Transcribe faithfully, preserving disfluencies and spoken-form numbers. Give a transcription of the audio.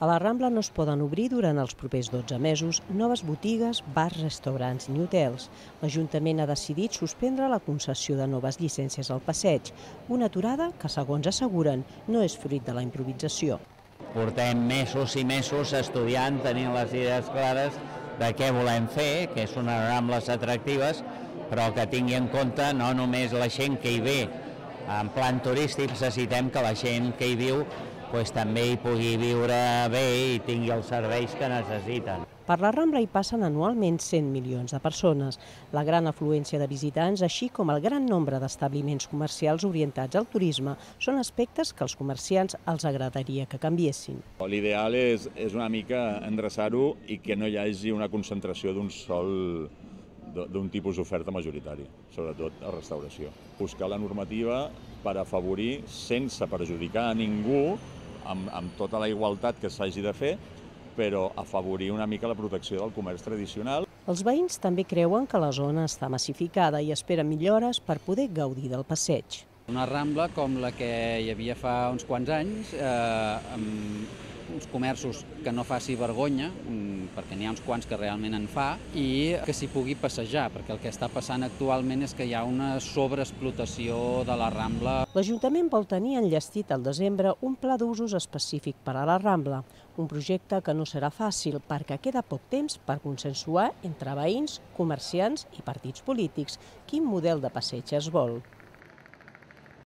A la Rambla no es poden obrir durant els propers dotze mesos noves botigues, bars, restaurants ni hotels. L'Ajuntament ha decidit suspendre la concessió de noves llicències al passeig, una aturada que, segons asseguren, no és fruit de la improvisació. Portem mesos i mesos estudiant, tenint les idees clares de què volem fer, que són unes Rambles atractives, però que tingui en compte no només la gent que hi ve en plan turístic, necessitem que la gent que hi viu pues, també hi pugui viure bé i tingui els serveis que necessiten. Per la Rambla hi passen anualment cent milions de persones. La gran afluència de visitants, així com el gran nombre d'establiments comercials orientats al turisme, són aspectes que als comerciants els agradaria que canviessin. L'ideal és, és una mica endreçar-ho i que no hi hagi una concentració d'un sol d'un tipus d'oferta majoritària, sobretot a restauració. Buscar la normativa per afavorir, sense perjudicar a ningú, amb, amb tota la igualtat que s'hagi de fer, però afavorir una mica la protecció del comerç tradicional. Els veïns també creuen que la zona està massificada i esperen millores per poder gaudir del passeig. Una Rambla com la que hi havia fa uns quants anys, eh, amb uns comerços que no faci vergonya, perquè n'hi ha uns quants que realment en fa, i que s'hi pugui passejar, perquè el que està passant actualment és que hi ha una sobreexplotació de la Rambla. L'Ajuntament vol tenir enllestit al desembre un pla d'usos específic per a la Rambla, un projecte que no serà fàcil perquè queda poc temps per consensuar entre veïns, comerciants i partits polítics quin model de passeig es vol.